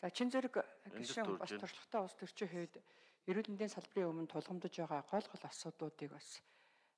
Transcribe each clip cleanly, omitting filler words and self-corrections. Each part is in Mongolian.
За чин зэрэг гишүүн бас туршлагатай улс төрчин хувьд эрүүл мэндийн салбарын өмнө тулгамдж байгаа гол асуудлуудыг бас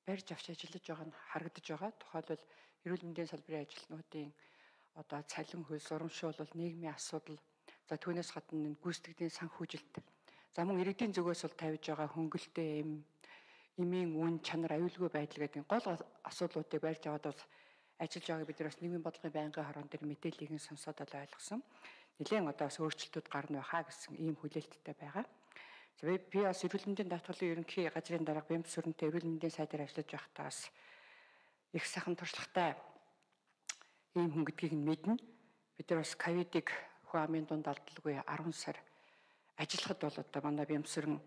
барьж авч ажиллаж байгаа нь харагдаж байгаа. Тухайлбал эрүүл мэндийн салбарын ажилтнуудын одоо цалин хөлс урамшуулал, нийгмийн асуудал, за түүнээс гадна гүйцэтгэлийн санхүүжилт, за мөн иргэдийн зүгээс бол тавьж байгаа хөнгөлтэй эмийн үн чанар, аюулгүй байдал гэдэг гол асуудлуудыг барьж аваад бол ажиллаж байгааг бид нар бас нийгмийн бодлогын байнгын хорон дээр мэдээллийг нь сонсоод л ойлгосон. Нэлээд одоо бас өөрчлөлтүүд гарна байхаа гэсэн ийм хүлээлттэй байгаа. Би бас эрүүл мэндийн даатгалын ерөнхий газрын дарга Бямбсүрэнтэй эрүүл мэндийн сайдаар ажиллаж байхдаа бас их сайхан туршлагатай ийм хүн гэдгийг нь мэднэ. Бид нар бас ковидыг хүн амын дунд алдалгүй 10 сар ажиллахад бол одоо манай Бямбсүрэн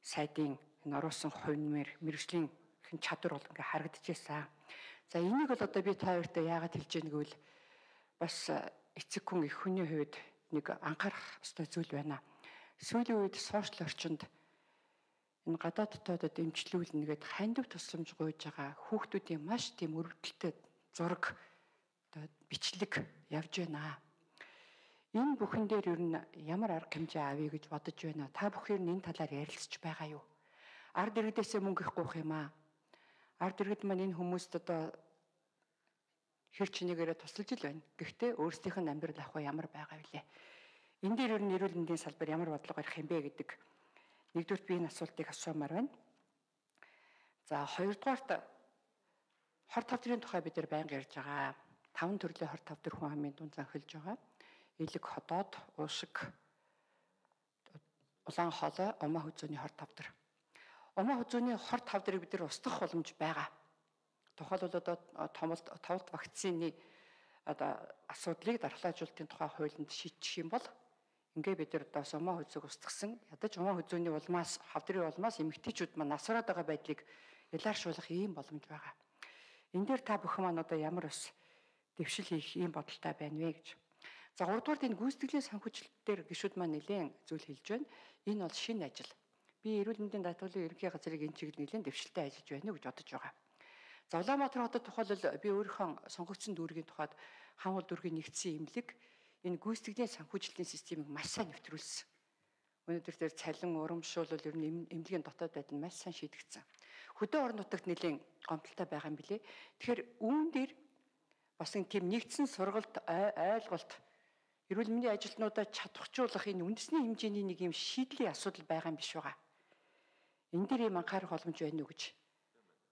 сайдын энэ оруулсан хувь мэргэжлийн чадвар бол ингээ харагдчихсан. За энийг бол одоо би та хоёртой яагаад хэлж яаг гэвэл бас эцэг хүн их хүний хувьд нэг анхаарах ёстой зүйл байна. Сүүлийн үед сошиал орчинд энэ гадаад дотоодод эмчлүүлнэ гэдэг хандив тусламж гуйж байгаа хүүхдүүдийн маш тийм өрөвдөлтөд зураг одоо бичлэг явж байна. Энэ бүхэн дээр ер нь ямар арга хэмжээ авъя гэж бодож байна. Та бүхэн энэ талаар ярилцж байгаа юу? Ард иргэдээсээ мөнгө их гуйх юм аа. Ард иргэд маань энэ хүмүүст одоо хэр чинийгээрээ тусалж ил байна. Гэхдээ өөрсдийнх нь амьдрал ах ямар байгаа вүлээ. Энэ дээр ер нь эрүүл мэндийн салбар ямар бодлого гарах юм бэ гэдэг нэгдүгürt би энэ асуултыг асуумаар байна. За хоёрдугаарт хор тавдрын тухай бид нар байнга ярьж байгаа. 5 төрлийн хор тавдар хүн амын дунд занхилж байгаа. Элэг ходоод, уушиг, улаан хоолой, умаа хүзүүний хор тавдар. Умаа хүзүүний хор тавдрыг бид нар устгах боломж байгаа. Тухайлбал одоо товлт вакцины одоо асуудлыг дархлаажуулалтын тухай хуулинд шийдчих юм бол ингээ бид нар одоо умаа хүзүүг устгасан. Ядаж умаа хүзүүний улмаас, хавдрын улмаас эмэгтэйчүүд маань насраад байгаа байдлыг ялааршуулах ийм боломж байгаа. Энэ дээр та бүхэн маань одоо ямар ус дэвшил хийх ийм бодолтой байна вэ гэж. За 3 дугаарт энэ гүйцэтгэлийн санхүүжилтээр гишүүд маань нэлээд зүйл хэлж байна. Энэ бол шинэ ажил. Би эрүүл мэндийн даатгалын ерөнхий газрыг энэ чиглэл нэлээд дэвшилтэй ажиллаж байна гэж бодож байгаа. За Улаанбаатар хотод тухайлбал би өөрийнхөө сонгогдсон дүүргийн тухайд хаанхул дүүргийн нэгдсэн имлэг энэ гүйцэтгэлийн санхүүжилтийн системийг маш сайн нэвтрүүлсэн. Өнөөдөр тэр цалин урамшуулал ер нь эмнэлгийн дотоод байдал маш сайн шийдэгдсэн. Хөдөө орон нутагт нэлээд гомдолтой байгаа юм билэ. Тэгэхээр үүн дээр бас нэг тийм нэгдсэн сургалт ойлголт эрүүл мэндийн ажилтнуудаа чадваржуулах энэ үндэсний хэмжээний нэг юм шийдлийн асуудал байгаа юм биш байгаа. Энэ дээр юм анхаарах боломж байна уу гэж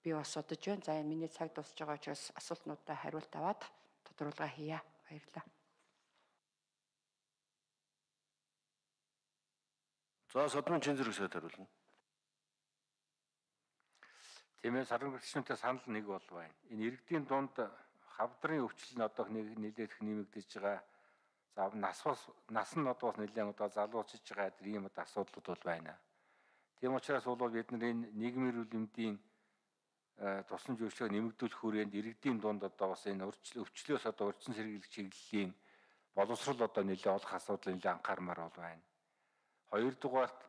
би бас бодож байна. За энэ миний цаг дуусж байгаа учраас асуултнуудаа хариулт аваад тодорхойлгоо хийе. Баярлалаа. За Содмын чин зэрэг сайд хариулна. Тиймээс саран гэрчнүүтэй санал нэг бол байна. Энэ иргэдийн дунд хавдрын өвчлөл нь одоо нэлээд их нэмэгдэж байгаа. За нас нь одоо бас нэлээд одоо залуучж байгаа ийм одоо асуудлууд бол байна. Тийм учраас бол бид нар энэ нийгмийн эрүүл мэндийн тусламж үйлчилгээг нэмэгдүүлэх хүрээнд иргэдийн дунд одоо бас энэ өвчлөөс одоо урьдчилан сэргийлэх чиглэлийн боловсрол одоо нэлээд олох асуудал нэлээд анхаармаар бол байна. Хоёрдугаарт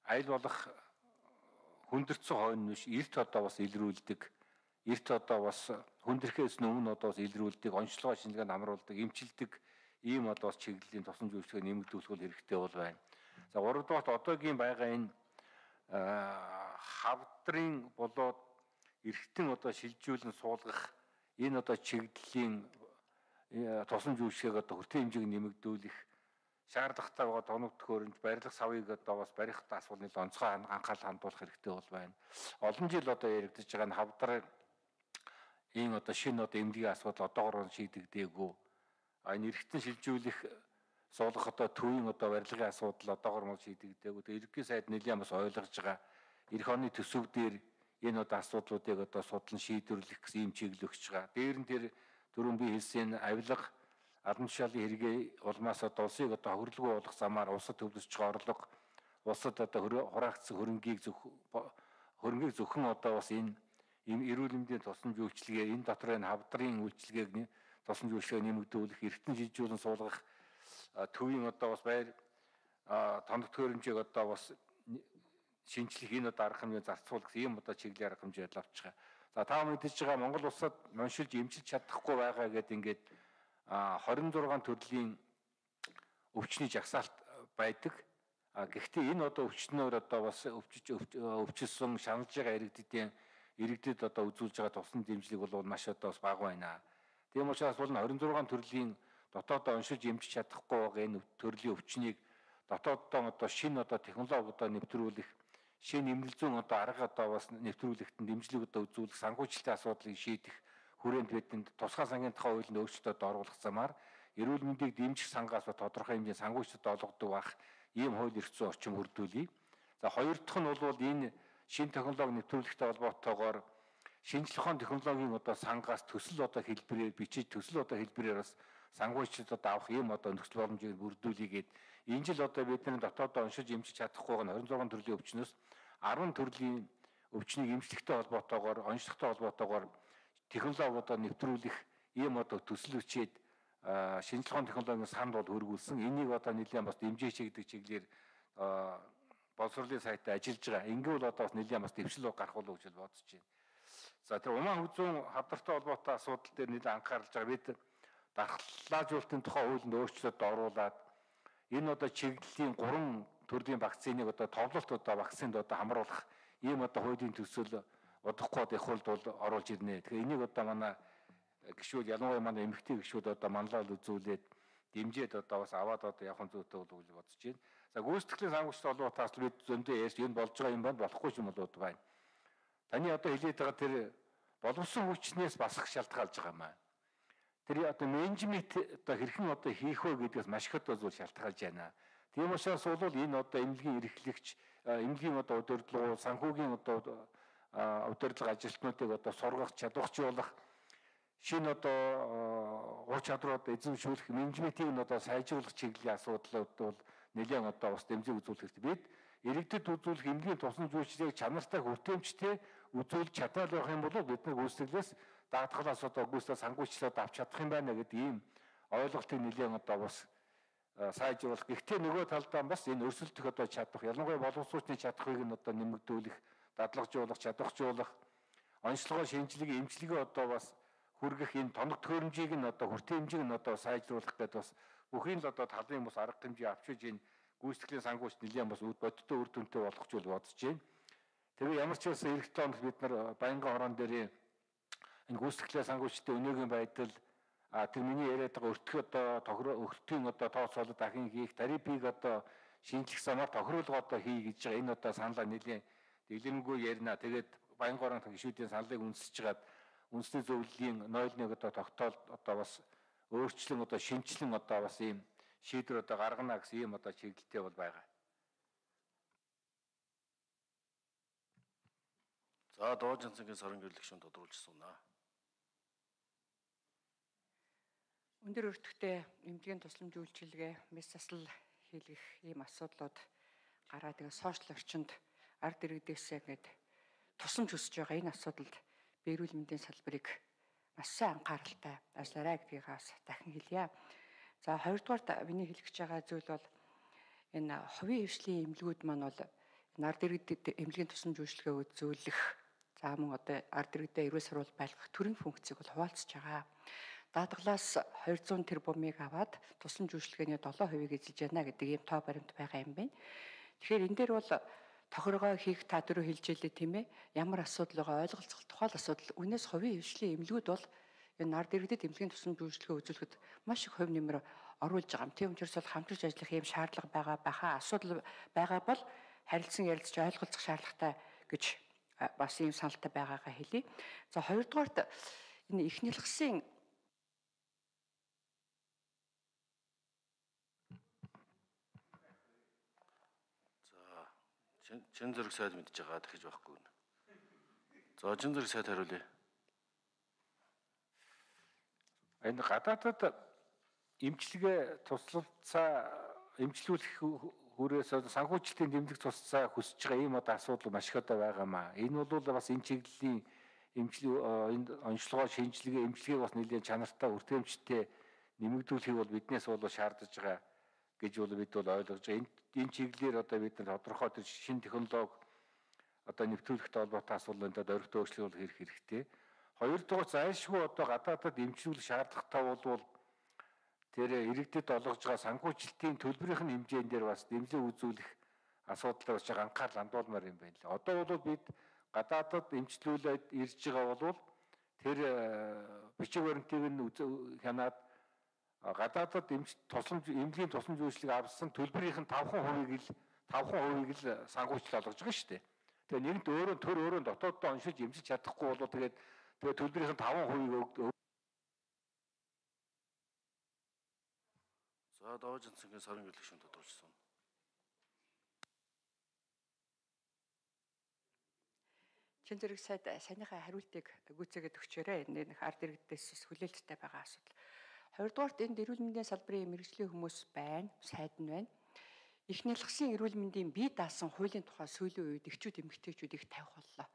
аль болох хүндэрсэн хойно биш эрт одоо бас илрүүлдэг, эрт одоо бас хүндрэхээс өмнө одоо бас илрүүлдэг, онцлогоо шинжилгээнд амруулдаг, эмчилдэг ийм одоо бас чиглэлийн тусламж үйлчилгээг нэмэгдүүлэх бол хэрэгтэй бол байна. За 3 дугаарт одоогийн байгаа энэ хавдрын болоод эргэтэн одоо шилжүүлэн суулгах энэ одоо чиглэлийн тусламж үйлчилгээг одоо хүртээ хэмжээг нэмэгдүүлэх шаардлагатай байгаа тоног төхөөрөмж барилга савыг одоо бас барих асуудал нэл онцгой анхаарал хандуулах хэрэгтэй бол байна. Олон жил одоо яригдж байгаа нь хавдрын энэ одоо шинэ одоо эмнэлгийн асуудал одоогоор шийдэгдээгүй. Энэ эргэтэн шилжүүлэх суулгах одоо төвийн одоо барилгын асуудал одоогоор мөн шийдэгдээгүй. Тэгээ ерөнхий сайд нэлээд бас ойлгож байгаа. Эх оны төсөв дээр энэ одоо асуудлуудыг одоо судлан шийдвэрлэх гэсэн юм чиглэл өгч байгаа. Дээр нь тэр түрүүн би хэлсэн авилга албан тушаалын хэрэгээ улмаас одоо улсыг одоо хөрлөгөө болох замаар улсад төвлөрч байгаа орлого, улсад одоо хураагдсан хөрөнгийг зөвхөн одоо бас энэ эрүүл мэндийн тусламж үйлчилгээ, энэ дотор энэ хавдрын үйлчилгээг тусламж үйлчилгээг нэмэгдүүлэх, эргэтэн шилжүүлэн суулгах төвийн одоо бас байр тоног төхөөрөмжийг одоо бас шинжлэх энэ одоо арга хэмжээ зарцуулах ийм одоо чиглэлийн арга хэмжээд авч байгаа. За та мэдээж байгаа Монгол улсад уншилж эмчилж чадахгүй байгаа гэдэг ингээд 26 төрлийн өвчний жагсаалт байдаг. Гэхдээ энэ одоо өвчнөөр одоо бас өвчсөн шаналж байгаа иргэдэд одоо үзүүлж байгаа тусламж дэмжлэг бол маш одоо бас бага байна. Тийм учраас бол 26 төрлийн дотоодоо уншиж эмчиж чадахгүй байгаа энэ төрлийн өвчнийг дотооддоо одоо шинэ одоо технологи одоо нэвтрүүлэх, шинэ эмнэлэг зүүн одоо арга одоо бас нэвтрүүлэхэд дэмжлэг одоо үзүүлэх, санхүүжилтийн асуудлыг шийдэх хүрээнд бидэнд тусгай сангийн тухай хуулинд өөрчлөлтөд оруулах замаар эрүүл мэндийг дэмжих сангаас тодорхой хэмжээний санхүүжилт олгодог бах ийм хууль эрх зүйн орчин бүрдүүлье. За хоёр дахь нь бол энэ шинэ технологи нэвтрүүлэхтэй холбоотойгоор шинжлэх ухааны технологийн одоо сангаас төсөл одоо хэлбэрээр бичиж төсөл одоо хэлбэрээр бас санхүүжилт одоо авах ийм одоо нөхцөл боломжийг бүрдүүлээгээд энэ жил одоо бидний дотоодоо уншиж эмчиж чадахгүй байгаа 26 төрлийн өвчнөөс 10 төрлийн өвчнийг эмчлэхтэй холбоотойгоор онцлогтой холбоотойгоор технологи одоо нэвтрүүлэх ийм одоо төсөл бичээд шинжлэх ухааны технологийн санд бол хөргүүлсэн. Энийг одоо нэлээд бас дэмжиж чигдэг чиглэлээр боловсролын сайтаа ажиллаж байгаа. Ингэвэл одоо бас нэлээд бас дэвшил гарах болов гэж бодож байна. За тэр Умаан хүзүүн хавдартай холбоотой асуудал дээр нэлээд анхаарч байгаа. Бид дархлаажуулалтын тухай хуулинд өөрчлөлт оруулаад энэ одоо чиглэлийн 3 төрлийн вакциныг одоо товлолт одоо вакцинд одоо хамруулах ийм одоо хуулийн төсөл удахгүй их хуульд бол оруулж ирнэ. Тэгэхээр энийг одоо манай гишүүд ялангуяа манай эмэгтэй гишүүд одоо манлайлал үзүүлээд дэмжиж одоо бас аваад одоо явах зүйтэй болов гэж бодож байна. За гүйцэтгэлийн санхүүжилт холбоотойгоос бид зөндөө ярьж энэ болж байгаа юм байна, болохгүй юм болоод байна. Таны одоо хэлээд байгаа тэр боловсон хүчнээс басах шалтгаалж байгаа юм аа. Тэр одоо менежмент одоо хэрхэн одоо хийх вэ гэдгээс маш их одоо зүйл шалтгаалж байна. Тийм учраас бол энэ одоо эмнэлгийн эрхлэгч, эмнэлгийн одоо удирдлага, санхүүгийн одоо удирдлага ажилтнуудыг одоо сургах, чадварчуулах шинэ одоо ур чадвар одоо эзэмшүүлэх менежментийг нь одоо сайжруулах чиглэлийн асуудлууд бол нэлээд одоо бас дэмжиг үзүүлэх хэрэгтэй. Бид иргэдэд үзүүлэх эмнэлгийн тусламж үйлчилгээг чанартай хүртээмжтэй үзүүлж чадвал байх юм бол бид нар гүйцэтгэлээс даатгалаас одоо гүйцэтгэл санхүүжилтөд авч чадах юм байна гэдэг ийм ойлголтыг нэлээд одоо бас сайжруулах. Гэхдээ нөгөө талдаа бас энэ өрсөлдөх одоо чадах, ялангуяа боловсруучны чадхыг нь одоо нэмэгдүүлэх, дадлагжуулах, чадварчуулах, онцлогоо шинжилгээ, эмчилгээ одоо бас хүргэх энэ тоног төхөөрөмжийг нь одоо хүртээн хэмжээг нь одоо сайжруулах гэдэг бас бүхий л одоо талын бас арга хэмжээ авчиж энэ гүйцэтгэлийн санхүүжилт нэлээд бас бодиттой үр дүнтэй болох гэж бодож байна. Тэгээ ямар ч байсан эх тоонд бид нар баянган орон дээр энэ гүйцэтгэлийн санхүүжилтийн өнөөгийн байдал тэр миний яриад байгаа өртгөх одоо өртгийн одоо тооцоолол дахин хийх тарифыг одоо шинжлэх замаар тохируулга одоо хий гэж байгаа энэ одоо саналаа нэлээд дэлгэрэнгүй ярина. Тэгээд баянган орон гишүүдийн саналыг үнсэж чагаад үндэсний зөвлөлийн 01 одоо тогтоол одоо бас өөрчлөн одоо шинжилэн одоо бас ийм шийдвэр одоо гаргана гэсэн ийм одоо чиглэлтэй бол байгаа. За Дуучин цэнгийн сорон гэрлэгшин тодруулж сунаа. Өндөр өртөгтэй эмнэлгийн тусламж үйлчилгээ, мэс засал хийлгэх ийм асуудлууд гараад тэгээ сошиал орчинд ард иргэдээсээ ингээд тусламж өсөж байгаа энэ асуудалд би эрүүл мэндийн салбарыг маш сайн анхааралтай ажиллаарай гэдгийг бас дахин хэлье. За хоёрдугаар миний хэлэх гэж байгаа зүйл бол энэ хувийн хвшлийн эмнэлгүүд маань бол ард иргэдэд эмнэлгийн тусламж үйлчилгээ үзүүлэх, за мөн одоо ард иргэдэд эрүүл сурвалж байлгах төрийн функцийг бол хуваалцаж байгаа. Даатгалаас 200 тэрбумыг аваад тусламж үйлчилгээний 7%-ийг эзэлж байна гэдэг ийм тоо баримт байгаа юм байна. Тэгэхээр энэ дээр бол тохиргоо хийх та дөрөв хэлжээлээ тийм ээ. Ямар асуудал байгаа ойлголцох тухай асуудал. Үнээс хувийн хвшлийн эмнэлгүүд бол энэ ард иргэдэд эмнэлгийн тусламж үйлчилгээ үзүүлэхэд маш их хувь нэмэр оруулж байгаа юм. Тийм учраас бол хамтарч ажиллах ийм шаардлага байгаа баха асуудал байгаа бол харилцан ярилцж ойлголцох шаардлагатай гэж бас ийм саналтай байгаагаа хэлье. За хоёрдугаарт энэ эхний лагсын чин зэрэг сайд мэдж байгаа дахиж байхгүй. За чин зэрэг сайд хариулъя. Энэ гадаадад эмчилгээ туслалцаа эмчлүүлэх хүрээс санхүүжилтийн дэмжлэг туслалцаа хүсэж байгаа ийм одоо асуудал маш их одоо байгаа маа. Энэ бол бас энэ чиглэлийн энэ онцлогоо шинжилгээ эмчилгээг бас нэлээд чанартай үртэмжтэй нэмэгдүүлэхийг бол биднээс бол шаардж байгаа гэж бол бид бол ойлгож байгаа. Энэ чиглэлээр одоо бид нар тодорхой тэр шинэ технологи одоо нэвтрүүлэхтэй холбоотой асуудлууд орхитой өөрчлөлт хийх хэрэгтэй. Хоёрдугаар зайлшгүй одоо гадаадад эмчилүүлэх шаардлагатай бол тэр иргэдэд олгож байгаа санхүүжилтийн төлбөрийн хэмжээнд дээр бас нэмлэг үзүүлэх асуудал бас анхаарал хандуулмаар юм байна л. Одоо бол бид гадаадад эмчлүүлээд ирж байгаа бол тэр бичиг баримтыг нь хянаад гадаадад эмнэлгийн тусламж үйлчлэг авсан төлбөрийн 5% л санхүүжилт олгож байгаа шүү дээ. Тэгээ нэгд өөрөө дотооддоо оншилж эмчилж чадахгүй бол тэгээд төлбөрийн 5% За Доожин цэнгийн сарын гэрлэх шин тодорхойлсон. Чин зэрэг сайд саяныхаа хариултыг гүйцээгээд өгчөөрэй. Энэ ард иргэдээс хүлээлттэй байгаа асуудал. Хоёрдугаарт энд эрүүл мэндийн салбарын мэргэжлийн хүмүүс байна, сайд нь байна. Их нялгсан эрүүл мэндийн бие даасан хуулийн тухай сүүлийн үед эхчүүд эмэгтэйчүүд их тавих боллоо.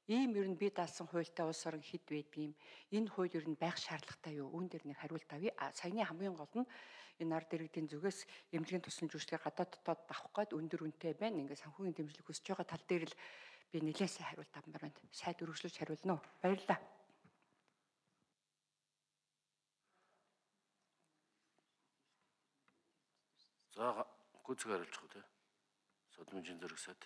Ийм ер нь бие даасан хуультай улс орон хэд байдгийм. Энэ хууль ер нь байх шаардлагатай юу? Үүн дээр нэг хариулт авъя. Саяны хамгийн гол нь энэ ард иргэдийн зүгээс эмнэлгийн тусламж үйлчлэгээ гадаад дотоод авах гээд өндөр үнэтэй байна. Ингээд санхүүгийн дэмжлэг хүсэж байгаа тал дээр л би нэлээд сайн хариулт авмаар байна. Сайд өргөжлөж хариулна уу? Баярлалаа. За гүйцэтгэх хариулж байгаа тийм. Содмжийн зэрэг сайд.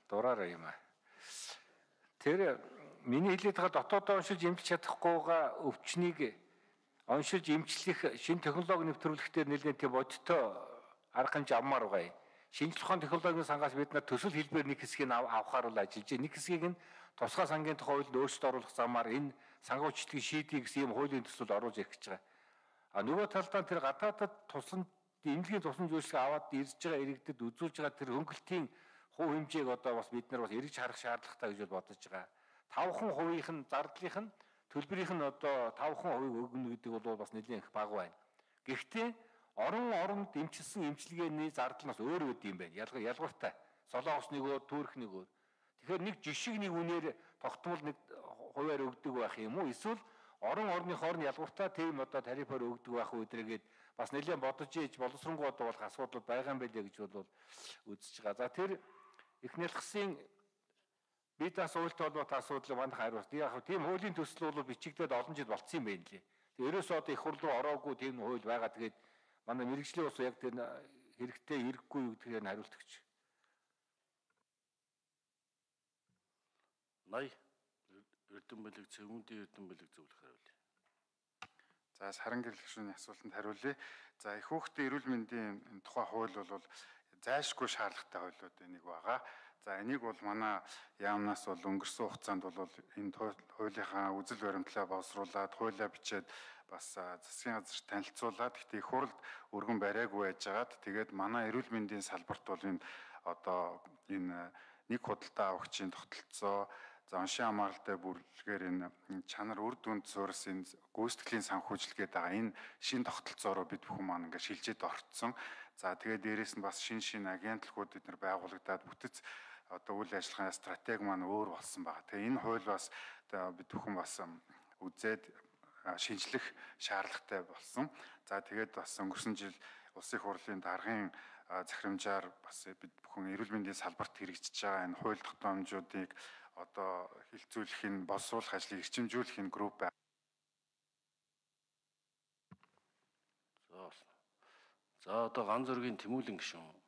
Дураараа юм аа. Тэр миний хэлээд байгаа дотоодоо уншиж эмчилж чадахгүйгаа өвчнийг уншиж эмчлэх шинэ технологи нэвтрүүлэхдээ нэлээд тийм бодиттой арга хэмжээ авмаар байгаа юм. Шинжлэх ухааны технологийн сангаас бид нар төсөл хэлбэр нэг хэсгийг авахаар бол ажиллаж байна. Нэг хэсгийг нь тусгай сангийн тухай хуулинд өөрчлөлт оруулах замаар энэ санхүүжилтийн шийдийг гэсэн юм хуулийн төсөлд оруулж ирэх гэж байгаа. А нөгөө талдаа тэр гадаадад эмнэлгийн тусламж үйлчлэг аваад ирж байгаа иргэдэд үзүүлж байгаа тэр хөнгөлтийн хувь хэмжээг одоо бас бид нар бас эргэж харах шаардлагатай гэж бодож байгаа. 5% зардлынх нь төлбөрийнх нь одоо 5% өгнө гэдэг бол бас нэлээд их бага байна. Гэхдээ оронд эмчилсэн эмчилгээний зардал нь бас өөр үд юм байна. Ялгууртай. Солонгос нөгөө, Турк нөгөө. Тэгэхээр нэг жишг нэг үнээр тогтмол нэг хуваар өгдөг байх юм уу? Эсвэл орны хооронд ялгууртай тийм одоо тарифаар өгдөг байх үдрэгээд бас нэлээд бодож ийж боловсронгуй одоо болох асуудал байгаа юм байлээ гэж бол үзэж байгаа. За тэр их нялхсан бие даасан хуультай холбоотой асуудлыг манайх хариулт. Яг тийм хуулийн төсөл бол бичигдээд олон жил болцсон юм байна лээ. Тэгээ ерөөсөө одоо их хурл руу ороогүй тийм хууль байгаа. Тэгээд манай мэргэжлийн ус яг тэр хэрэгтэй хэрэггүй юу гэдгээр нь хариулт өгч. 80 Эрдэнэбэлэг Цэвүүндийн Эрдэнэбэлэг зөвлөх хариулъя. За саран гэрлэгшүүний асуултанд хариулъя. За их хүүхдийн эрүүл мэндийн тухай хууль бол зайлшгүй шаардлагатай хуулиуд энийг байгаа. За энийг бол манай яамнаас бол өнгөрсөн хугацаанд бол энэ хуулийнхаа үзэл баримтлаа боловсруулад хуулиа бичээд бас засгийн газар танилцуулаад гэхдээ их хурлд өргөн бариагүй байжгаад тэгээд манай эрүүл мэндийн салбарт бол энэ одоо энэ нэг худалдаа авагчийн тогтолцоо за уншийн хамааралтай бүрэлдэхүүнээр энэ чанар үр дүнд суурс энэ гүйцэтгэлийн санхүүжилгээд байгаа энэ шин тогтолцоороо бид бүхэн маань ингээд шилжээд орцсон. За тэгээд дээрэс нь бас шин агентлагууд бид нар байгуулагдаад бүтэц одоо үйл ажиллагааны стратеги маань өөр болсон байгаа. Тэгээ энэ хууль бас бид бүхэн бас үзээд шинжлэх шаардлагатай болсон. За тэгээд бас өнгөрсөн жил улсын их хурлын даргын захирамжаар бас бид бүхэн эрүүл мэндийн салбарт хэрэгжиж байгаа энэ хууль тогтоомжуудыг одоо хилцүүлэх нь боловсруулах ажлыг эрчимжүүлэх энэ групп байна. За одоо Ган зөргийн Тэмүүлэн гишүүн